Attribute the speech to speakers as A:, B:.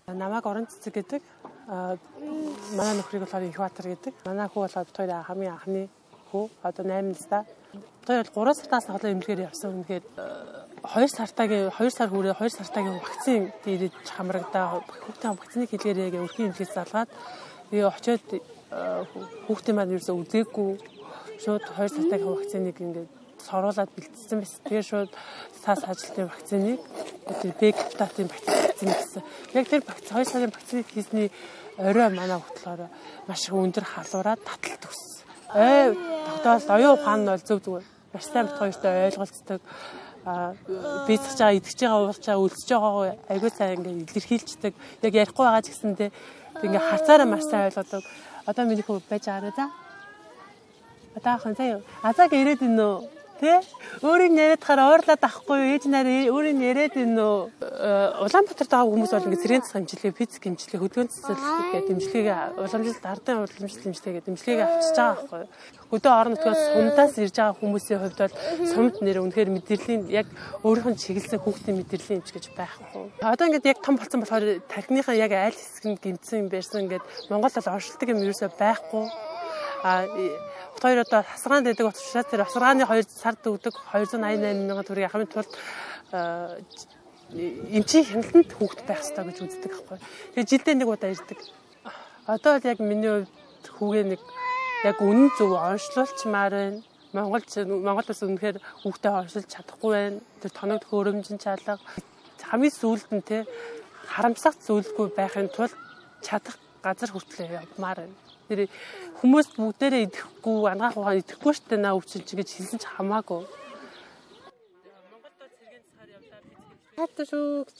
A: Намайг Орон Цэцэг гэдэг. Манай нөхрийг болохоор Инхбаатар гэдэг. Манай хүү болохоор бид хоёр хамгийн анхны хүү. Одоо 8 настай. Бид хоёр 3 сартаас хойш эмнэлгээр явсан. Үнэхээр 2 сар хүрээ 2 сартагийн вакцин ирээд хамрагдаа хүүхдийн вакциныг хэлгээрээ өрхийн эмнэлгээс залгаад тэгээ очиод хүүхдийн маань ерөөсөө үзээгүй шууд 2 сартагийн вакциныг ингээд соруулаад бэлтсэн байсан. Тэгээ шууд сас ажилтны вакциныг тэр Б гепатитын вакцин гэсэн. Яг тэр 2 сарын вакциныг хийсний орой манай хөтлөөр маш их өндөр халуураад таталт өгсөн. Тогтоол оюун ухаан нь бол зөв зүгээр. Маш сайн бит хоёртой ойлголцдог. Бийцэж байгаа, идэж байгаа, уулж байгаа, өлсөж байгаа айгүй сайн ингээд илэрхийлцдэг. Яг ярихгүй байгаа ч гэсэндээ ингээд харцаараа маш сайн ойлгодог. Одоо миний хүү байж байгаа за. Одоо хан заяа. Азаг ирээд ин нөө. Тэ? Өөрийг яриад хараа уурлаад авахгүй юу? Ээж нараа өөрийг яриад ин нөө. Улаанбаатарт байгаа хүмүүс бол ингээд цэргийн засаг хэмжлэг, физик хэмжлэг, хөдөлгөөн цэцэл гэдэг дэмжлэгийг уламжилт ардын уламжилт хэмжлэгийг дэмжлэгийг авчиж байгаа байхгүй юу? Хөдөө орон нутгаас сумдаас ирж байгаа хүмүүсийн хувьд бол сумд нэр үнэхээр мэдрэлийн яг өөрийнх нь чиглэсэн хүүхдийн мэдрэлийн хэмж гэж байхгүй. Одоо ингээд яг том болсон болохоор тархиныхаа яг аль хэсэг нь гэмтсэн байсан ингээд Монгол бол оршилдог юм ерөөсөй байхгүй. Хоёр одоо хасгаанд байдаг учраас тэр хасгааны 2 сард өгдөг 288 мянган төгрөгийг авахын тулд эмчийн хяналтанд хүүхэд байх ёстой гэж үздэг байхгүй. Тэгээ жилдээ нэг удаа ирдэг. Одоо бол яг миний хувьд хүүгээ нэг яг үнэн зөв онцлуулчмаар байна. Монгол улс үнэхээр хүүхдээ онцлуулж чадахгүй байна. Тэр тоног хөрөмжин чалга хамгийн сүүлд нь те харамсах зүйлгүй байхын тулд чадах газар хүртлээ явмаар байна. Тэр хүмүүс бүгдээрээ идэхгүй, ангаах ухаан идэхгүй штэ наа өвчин чи гэж хэлсэн ч хамаагүй. Монголд цэргийн засгаар явлаа. Хатаа шүү гэж.